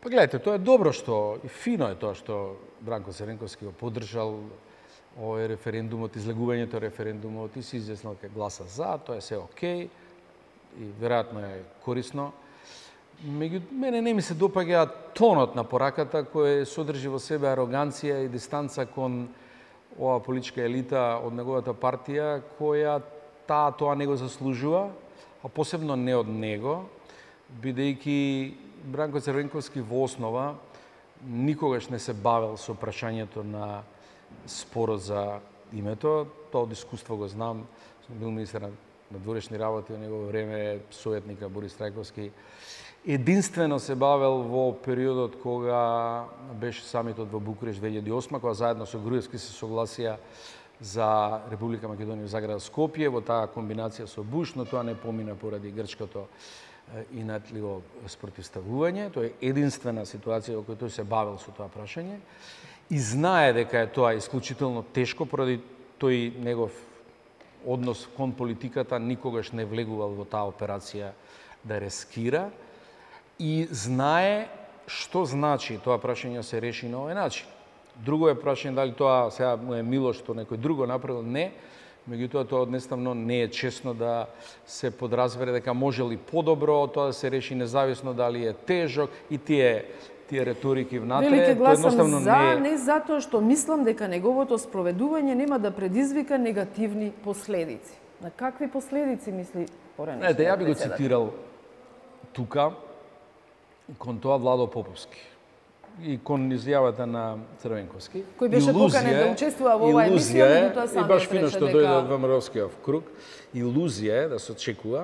Па гледайте, тоа е добро што и фино е тоа што Бранко Црвенковски го поддржал овој референдумот, излегувањето референдумот и се изјаснил дека гласа за, тоа е се окей и веројатно е корисно. Меѓутоа, мене не ми се допаѓа тонот на пораката кој содржи во себе ароганција и дистанца кон оваа политичка елита од неговата партија, која тоа не го заслужува, а посебно не од него, бидејќи Бранко Црвенковски во основа никогаш не се бавел со прашањето на спорот за името. Тоа од искуство го знам. Сум бил министер на дворешни работи во негово време, советника Борис Трајковски. Единствено се бавел во периодот кога беше самитот во Букуреш 2008, кога заедно со Груевски се согласија за Република Македонија за град Скопје, во таа комбинација со Буш, но тоа не помина поради грчкото инатливо спротивставување. Тоа е единствена ситуација во која тој се бавел со тоа прашање и знае дека е тоа исклучително тешко поради тој негов однос кон политиката, никогаш не влегувал во таа операција да рескира и знае што значи тоа прашање се реши на овој начин. Друго е прашање дали тоа сега му е мило што некој друго направил, не. Меѓутоа, тоа однеставно не е честно да се подразбере дека може ли подобро тоа да се реши независно дали е тежок и тие реторики внатре. Велике гласам за, не затоа што мислам дека неговото спроведување нема да предизвика негативни последици. На какви последици мисли поранешниот председател? Ја би го цитирал тука кон тоа Владо Поповски и кон изјавата на Црвенковски. Кој беше поканен да учествува во оваа емисија, меѓутоа сам и баш фино што дојде од ВМРО-скиот круг, илузија е да се очекува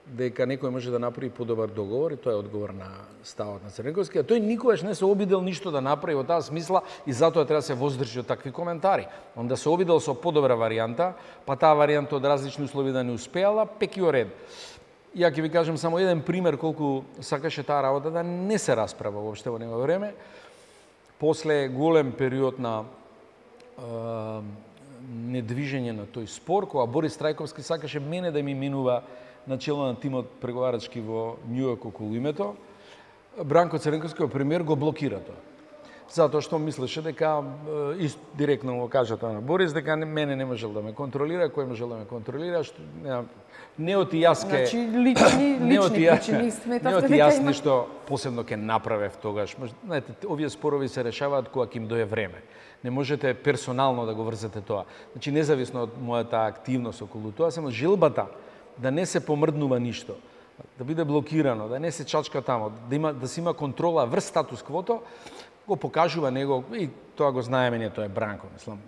дека некој може да направи подобар договор и тоа е одговор на ставот на Црвенковски, а тој никогаш не се обидел ништо да направи во таа смисла и затоа треба да се воздржи од такви коментари. Он да се обидел со подобра варијанта, па таа варијанта од различни услови да не успеала, пеки о ред. Ја ќе ви кажам само еден пример колку сакаше таа работа да не се расправа воопште во негово време. После голем период на недвижење на тој спор, кога Борис Трајковски сакаше мене да ми минува начело на тимот преговарачки во Њујорк околу името, Бранко Црвенковски, премиер, го блокира тоа. Затоа што мислеше дека, директно го кажа тоа на Борис, дека мене не можел да ме контролира, кој можел да ме контролира, што не оти јас ке... Значи, лични причини сметавте дека има... нешто посебно ке направев тогаш. Знаете, овие спорови се решаваат кога ќе им дое време. Не можете персонално да го врзете тоа. Значи, независно од мојата активност околу тоа, само желбата да не се помрднува ништо, да биде блокирано, да не се чачка тамо, да се има контрола врз статус квото, го покажува него и тоа го знаеме ние, тоа е Бранко, мислам.